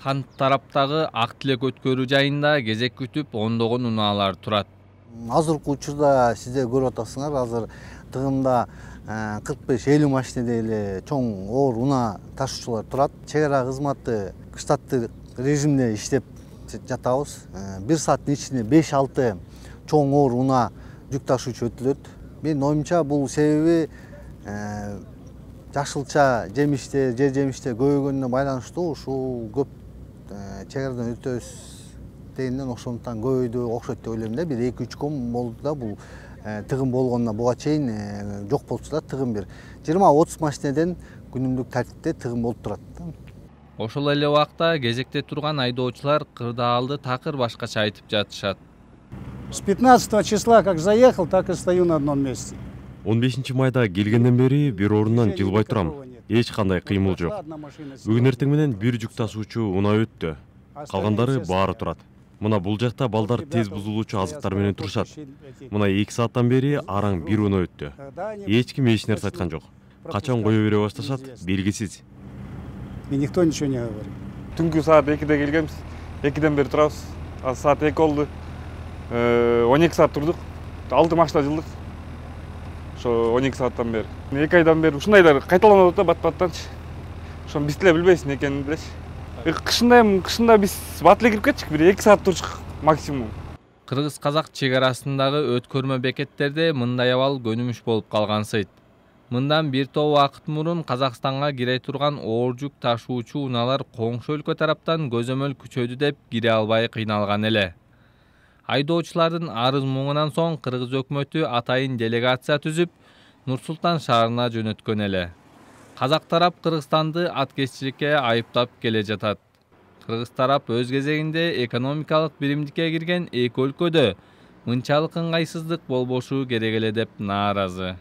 Кант тараптагы ак тилек өткөрүү жайында кезек күтүп ондогон унаалар турат. Азыркы учурда сиздер көрүп атасыңар, азыр тыгымда 45-50 машинеде эле чоң оор унаа ташуучулар турат. Чек ара кызматы штаттык режимде иштеп жатабыз. 1 сааттын ичинде 5-6 чоң оор унаа жүк ташуучу өтүлөт. Менин оюмча бул себеби жашылча жемиштер, жер жемиштер көбөйгөнүнө байланыштуу. Ушул көп чек арадан өтөбүз дегенден ошондуктан көбөйдү окшойт деп ойлойм да. Бир 2-3 күн болду да бул тыгым болгонуна буга чейин жок болчу да. Тыгым бир 20-30 машинеден күнүмдүк тартипте тыгым болуп турат. Ошол эле убакта кезекте турган айдоочулар кырдаалды такыр башкача айтып жатышат. С 15 числа как заехал, так и стою на одном месте. 15 майда келгенден бери бир орундан жылбай турам. Эч кандай кыймыл жок. Бүгүн эртең менен бир жүк ташуучу унаа өттү. Калгандары баары турат. Мына бул жакта балдар тез бузулуучу азыктар менен турушат. Мына 2 сааттан бери араң бир унаа өттү. Эч ким эч нерсе айткан жок. Качан кое бере башташат белгисиз. И никто ничего не говорит. Түнкү саат 2-де келгенбиз. 2-ден бери турабыз. Азыр саат 2 болду. 12 саат турдук. 6 машина жылдык. Ошо 12 сааттан бери. 2 айдан бери ушундайлар кайталанып атат да бат-баттанчы. Ошону биз деле билбейбиз эмне экенин делечи. Кышында биз бат эле кирип кетчүк, бир 2 саат турчук максимум. Кыргыз-казак чек арасындагы өткөрмө бекеттерде мындай абал көнүмүш болуп калгансыйт. Мындан бир топ убакыт мурун Казакстанга кире турган оор жүк ташуучу унаалар коңшу өлкө тараптан көзөмөл күчөдү деп кире албай кыйналган эле. Айдоочулардын арыз муңунан соң Кыргыз өкмөтү атайын делегация түзүп, Нур-Султан шаарына жөнөткөн эле. Казак тарап Кыргызстанды аткезчиликке айыптап келе жатат. Кыргыз тарап өз кезегинде экономикалык биримдикке кирген эки өлкөдө мынчалык ыңгайсыздык болбошу керек эле деп нааразы.